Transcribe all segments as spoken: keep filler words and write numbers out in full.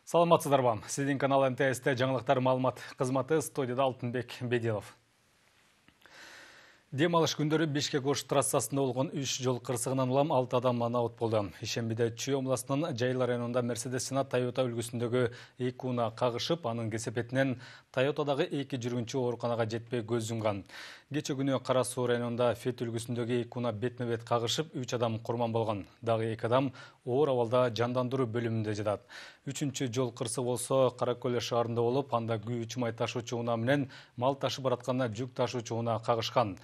Саламатсыздарбы? Сиздин канал эм тэ эсте жаңылыктар маалымат кызматы, студияда Алтынбек Бедилов. Дем алыш күндөрү Бишкек-Ош трассасында болгон үч жол кырсыгынан улам алты адам наут болду. Ишембиде Чүй областынын Жайыл районунда Мерседес жана Toyota үлгүсүндөгү эки унаа кагышып, анын кесепетинен Toyota'дагы эки жүргүнчү ооруканага жетпей көз жумган. Кече күнү Кара Суу районунда Фет үлгүсүндөгү эки унаа бетме-бет кагышып, үч адам курман болгон. Дагы эки адам оор абалда жандандыруу бөлүмүндө жатат. Үчүнчү жол кырсыгы болсо Каракөл шаарында болуп, анда күйүүчү май ташуучу унаа менен мал ташып баратканда жүк ташуучу унаа кагышкан.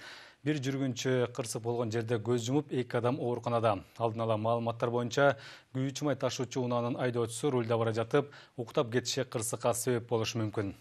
Бир жүргүнчү кырсык болгон жерде көз жумуп, эки адам ооруканада. Алдын ала маалыматтар боюнча, күйүүчү май ташуучу унаанын айдоочусу рулда бара жатып, уктап кетиши кырсыкка себеп болушу мүмкүн.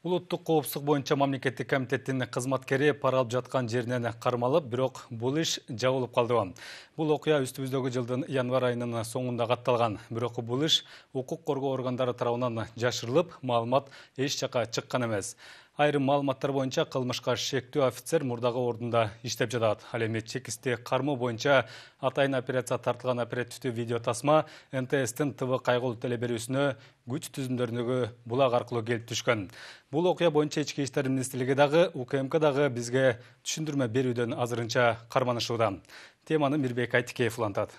Улуттук коопсуздук боюнча мамлекеттик комитеттин кызматкери пара алып жаткан жеринен кармалып, бирок бул иш жабылып калды. Бул окуя үстүбүздөгү жылдын январь айынын соңунда катталган. Бирок бул иш укук коргоо органдары тарабынан жашырылып, маалымат эч жака чыккан эмес. Айрым маалыматтар боюнча кылмышка шектүү офицер мурдагы ордунда иштеп жатат. Ал эми чекисти кармоо боюнча атайын операция тартылган оперативдүү видео тасма эм тэ эстин тэ вэ кайгылуу теле берүүсүнө күч түзүмдөрүндөгү булак аркылуу келип түшкөн. Бул окуя боюнча Ички иштер министрлиги дагы, У К М К дагы бизге түшүндүрмө берүүдөн азырынча карманышууда. Теманы Мирбек Айтикеев улантат.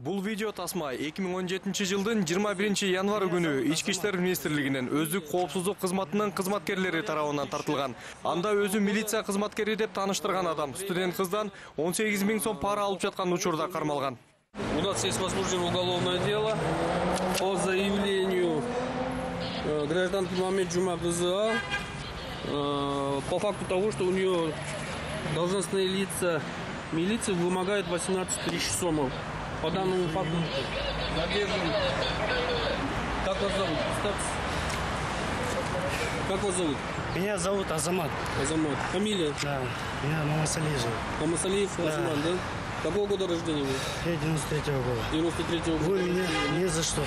Бул видео тасма эки миң он жетинчи жылдын жыйырма биринчи январь күнү Ички иштер министрлигинин өздүк коопсуздук кызматынын кызматкерлери тарабынан тартылган. Анда өзү милиция кызматкери деп тааныштырган адам студент кыздан он сегиз миң сом пара алып жаткан учурда кармалган. У нас есть возбуждено уголовное дело по заявлению гражданки Мамед Джума Гыза по факту того, что у нее должностные лица милиции вымогают восемнадцать тысяч сомов. По данному факту задержан. Как вас зовут? Как вас зовут? Меня зовут Азамат. Азамат. Фамилия? Да. Меня Мамасалиев зовут. Мамасалиев Азамат, да? Какого года рождения вы? Я девяносто третьего года. девяносто третьего года. Вы меня ни за что.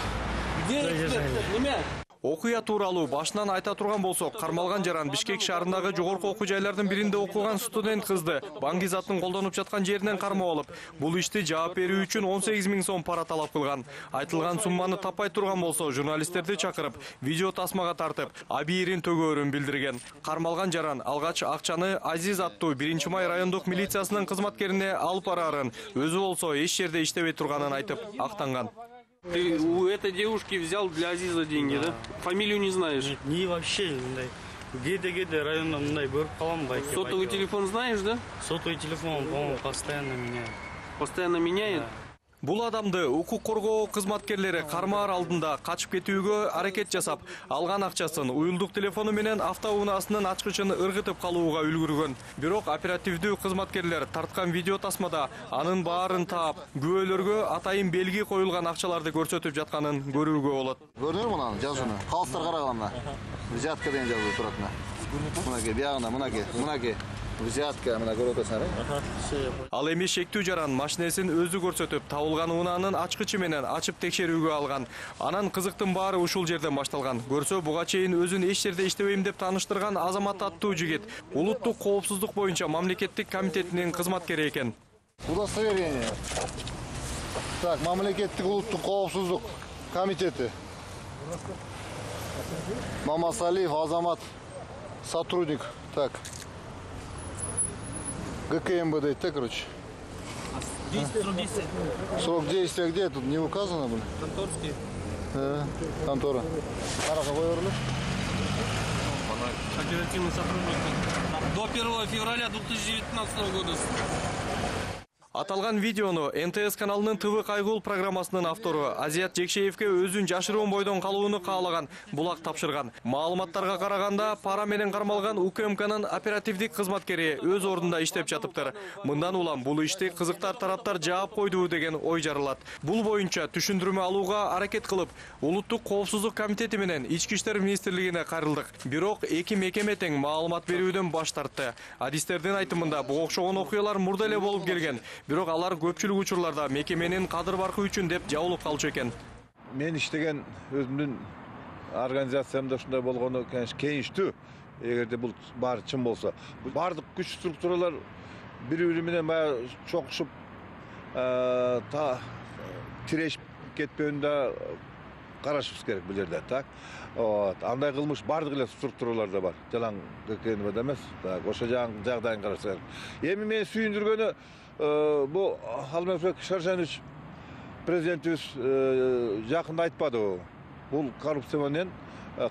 Где это? Окуя тууралуу башынан айта турган болсок, кармалган жаран Бишкек шаарындагы жогорку окуу жайлардын биринде окуган студент кызды баңгизаттын колдонуп жаткан жеринен кармап алып, бул ишти жаап берүү үчүн он сегиз миң сом пара талап кылган. Айтылган сумманы таппай турган болсо, журналисттерди чакырып, видео тасмага тартып, абийирин төгөөрүн билдирген. Кармалган жаран алгач акчаны Азиз аттуу биринчи май райондук милициясынын кызматкерине алып барарын, өзү болсо эч жерде иштебей турганын айтып актанган. Ты у этой девушки взял для Азиза деньги, да? Фамилию не знаешь? Не вообще, где-то районно мындай көрүп калам байке. Сотовый телефон знаешь, да? Сотовый телефон, по-моему, постоянно меняет. Постоянно меняет? Бул адамды укук коргоо кызматкерлери кармаар алдында качып кетүүгө аракет жасап, алган акчасын, уюлдук телефону менен автоунаасынын ачкычын ыргытып калууга үлгүргөн. Бирок оперативдүү кызматкерлер тарткан видео тасмада анын баарын таап, күбөлөргө атайын белги коюлган акчаларды көрсөтүп жатканын көрүүгө болот. Көрдүңүзбү мунун жазууну? Калыстар караганда. Взятка деген жазуу турат мына. Мынаке, биягында, мынаке, мынаке. Взятка, мына көрүп атасыңар, Ал эми шектүү жаран машинесин өзү көрсөтүп, табылган унаанын ачкычы менен ачып текшерүүгө алган. Анан кызыктын баары ушул жерден башталган. Көрсө, буга чейин өзүн эч жерде иштебейм деп тааныштырган Азамат аттуу жигит улуттук коопсуздук боюнча мамлекеттик комитетинин кызматкери экен. Удостоверение. Так, мамлекеттик улуттук коопсуздук комитети. Мамасалиев Азамат, сотрудник. Так. Г К М Б Д, так, короче. Срок действия. Срок действия где? Тут не указано было? Конторский. Да, контора. Хорошо, вывернули. Оперативный сотрудник. До первого февраля две тысячи девятнадцатого года. Аталган видеону Н Т С каналынын Тэ Вэ кайгылуу программасынын автору Азият Жекшеевке өзүн жашыруун бойдон калууну каалаган булак тапшырган. Маалыматтарга караганда, пара менен кармалган У К М К'нын оперативдик кызматкери өз ордунда иштеп жатыптыр. Мындан улам бул ишти кызыктар тараптар жаап койду деген ой жарылат. Бул боюнча түшүндүрмө алууга аракет кылып, улуттук коопсуздук комитети менен Ички иштер министрлигине кайрылдык. Бирок эки мекеме тең маалымат берүүдөн баш тартты. Адистердин айтымында бул окшогон окуялар мурда эле болуп келген. Бирок алар көпчүлүк учурларда мекеменин кадыр баркы үчүн деп жабылып калчу экен. Мен иштеген өзүмдүн организациямда ушундай болгону, конечно, кейиштүү. Эгерде бул баары чын болсо, баардык күч структуралар бири-бири менен баягы чокушуп та тирешип кетпөөнү карашыбыз керек бул жерде, так. Вот, андай кылмыш бардык эле структураларда бар. Жалаң экенбе эмес, так, ошо жагдайын караш керек. Эми мени сүйүндүргөнү бул Алмазбек Шаршенович президентибиз жакында айтпадыбы? Бул коррупция менен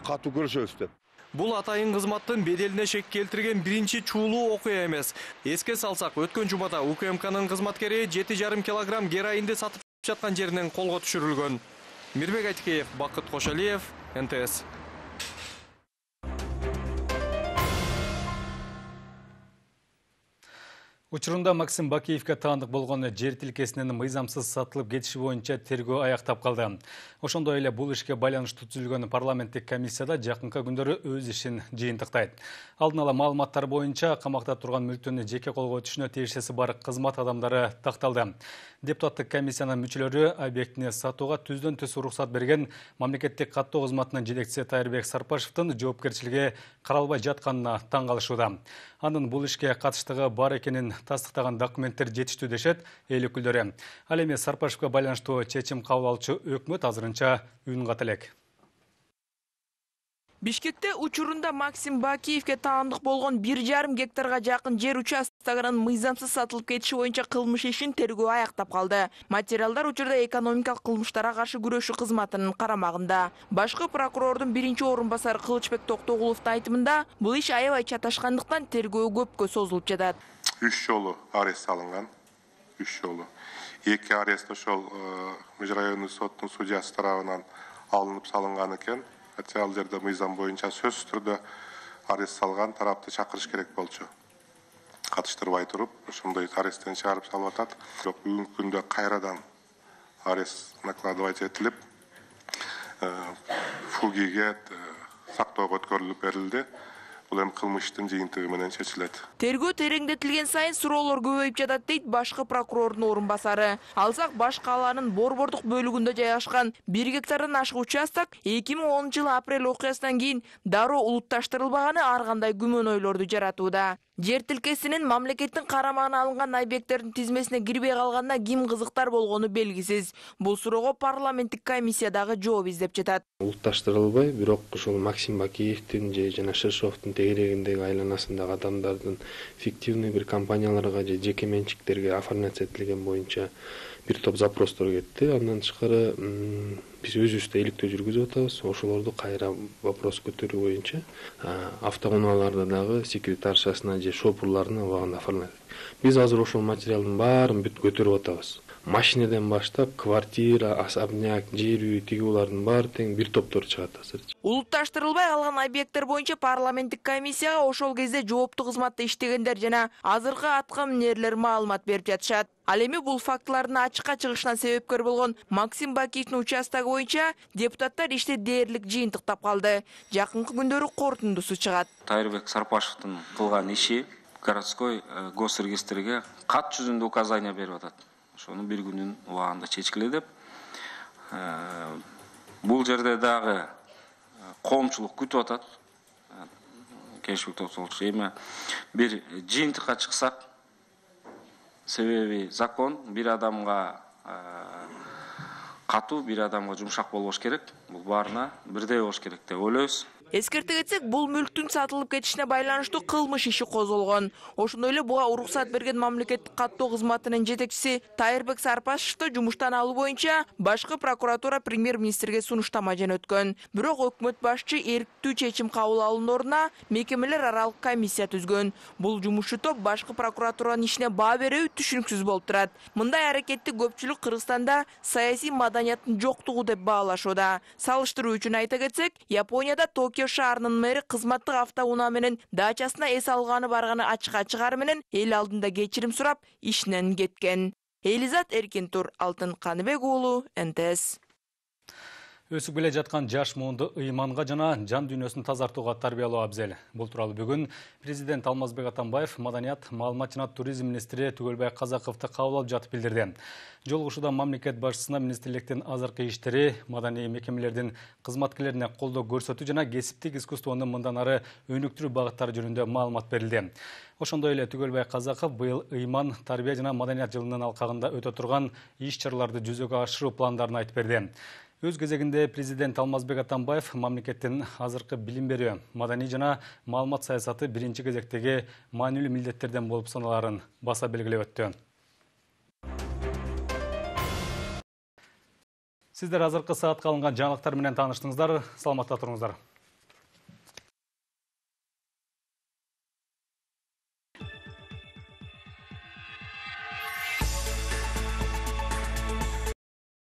катуу күрөшөбүз деп. Бул атайын кызматтын беделине шек келтирген биринчи чуулуу окуя эмес. Эске салсак, өткөн жумада УКМКнын кызматкери жети жарым килограмм героинди сатып жаткан жеринен колго түшүрүлгөн. Мирбек Айтикеев, Бакыт Кошалиев, эн тэ эс. Учурунда Максим Бакиевке таандык болгон жер тилкесинин мыйзамсыз сатылып кетиши боюнча тергөө аяктап калды. Ошондой эле бул ишке байланыштуу түзүлгөн парламенттик комиссияда жакынкы күндөрү өз ишин жыйынтыктайт. Алдын ала маалыматтар боюнча камакта турган мүлктүн жеке колго өтүшүнө тиешеси бар кызмат адамдары такталды. Депутаттык комиссиянын мүчөлөрү объектини сатууга түздөн түз уруксат берген мамлекеттик каттоо кызматынын жетекчиси Тайырбек Сарпашевдин жоопкерчилиги каралбай жатканына таң калышууда. Анын бул ишке катыштыгы бар экенин тастыктаган документтер жетиштүү дешет эл өкүлдөрү. Ал эми Сарпашевге байланыштуу чечим кабыл алуучу өкмөт азырынча үн ката элек. Бишкекте учурунда Максим Бакиевке таандык болгон бир жарым гектарга жакын жер участогунун мыйзамсыз сатылып кетиши боюнча кылмыш ишин тергөө аяктап калды. Материалдар учурда экономикалык кылмыштарга каршы күрөшүү кызматынын карамагында. Башкы прокурордун биринчи орун басары Кылычбек Токтогуловдун айтымында, бул иш аябай чаташкандыктан тергөө көпкө созулуп жатат. Үч жолу арест алынган. Үч жолу. Эки арест ошол межрайондук соттун судьясы тарабынан алынып салынган экен. Ал жерде мыйзам боюнча сөзсүз түрдө арест салган тарапты чакырыш керек болчу. Катыштырбай туруп, ошондой аресттен чыгарып салып атат. Бирок бүгүнкү күндө кайрадан арест накладывать этилип, фугиге сактоого өткөрүлүп берилди. Бул эми кылмыштын жыйынтыгы менен чечилет. Тергөө тереңдетилген сайын суроолор көбөйүп жатат дейт башкы прокурордун орун басары. Алсак Баш кааланын Борбордук бөлүгүндө жайгашкан бир гектардан ашык участок эки миң онунчу жылы апрель окуясынан кийин дароо улутташтырылбаганы ар кандай күмөн ойлорду жаратууда. Жер тилкесинин мамлекеттин карамагына алынган объекттердин тизмесине кирбей калганына ким кызыктар болгону белгисиз. Бул суроого парламенттик комиссиядагы жооп издеп жатат. Улутташтырылбай, бирок ошол Максим Бакиевдин же жана Шершовдун тегерегиндеги айланасындагы адамдардын фиктивный бир компанияларга же жеке менчиктерге оформляться этилген боюнча бир топ запростор кетти. Андан тышкары биз өзүбүз иликтөө жүргүзүп атабыз. Ошолорду кайра вопрос көтөрүү боюнча автоунааларда дагы секретаршасына же шопурларына убагында оформлайт. Биз азыр ошол материалдын баарын бүт көтөрүп атабыз. Машинеден баштап квартира, особняк, жер үй, тиги булардын баары тең бир топтор чыгат азыр. Улутташтырылбай калган объекттер боюнча парламенттик комиссияга ошол кезде жооптуу кызматта иштегендер жана азыркы атка минерлер маалымат берип жатышат. Ал эми бул фактылардын ачыкка чыгышына себепкер болгон Максим Бакиевдин участогу боюнча депутаттар иште дээрлик жыйынтыктап калды. Жакынкы күндөрү корутундусу чыгат. Тайырбек Сарпашевдин кылган иши городской госрегистрге кат жүзүндө указания берип атат. Ошону бир күнүн убагында чечкиле деп. Бул жерде дагы коомчулук күтүп атат. Кешбек Токтогулович эми бир жыйынтыкка чыксак, себеби закон бир адамга катуу, бир адамга жумшак болбош керек. Бул баарына бирдей болуш керек деп ойлойбуз. Эскерте кетсек, бул мүлктүн сатылып кетишине байланыштуу кылмыш иши козголгон. Ошондой эле буга уруксат берген мамлекеттик каттоо кызматынын жетекчиси Тайырбек Сарпашевди жумуштан алуу боюнча башкы прокуратура премьер-министрге сунуштама жөнөткөн. Бирок өкмөт башчы эрктүү чечим кабыл алуунун ордуна мекемелер аралык комиссия түзгөн. Бул жумушчу топ башкы прокуратуранын ишине баа берүү түшүнүксүз болуп турат. Мындай аракетти көпчүлүк Кыргызстанда саясий маданияттын жоктугу деп баалашууда. Салыштыруу үчүн айта кетсек, Японияда Токио шаарынын мэри кызматтык автоунаа менен дачасына эс алганы барганы ачыкка чыгары менен эл алдында кечирим сурап ишинен кеткен. Элизат Эркинтур, Алтын Каныбек уулу, эн тэ эс. Өсүп келе жаткан жаш муунду ыйманга жана жан дүйнөсүн тазартууга тарбиялоо абзел. Бул тууралуу бүгүн президент Алмазбек Атамбаев маданият, маалымат жана туризм министри Түгөлбай Казаковду кабыл алып жатып билдирди. Жолугушууда мамлекет башчысына министрликтин азыркы иштери, маданий мекемелердин кызматкерлерине колдоо көрсөтүү жана кесиптик искусствонун мындан ары өнүктүрүү багыттары жөнүндө маалымат берилди. Ошондой эле Түгөлбай Казаков быйыл ыйман, тарбия жана маданият жылынын алкагында өтө турган иш-чараларды жүзөгө ашыруу пландарын айтып берди. Өз кезегинде президент Алмазбек Атамбаев мамлекеттин азыркы билим берүү, маданий жана маалымат саясаты биринчи кезектеги маанилүү милдеттерден болуп саналарын баса белгилеп өттү. Сиздер азыркы саатка алынган жаңылыктар менен тааныштыңыздар. Саламатта туруңуздар.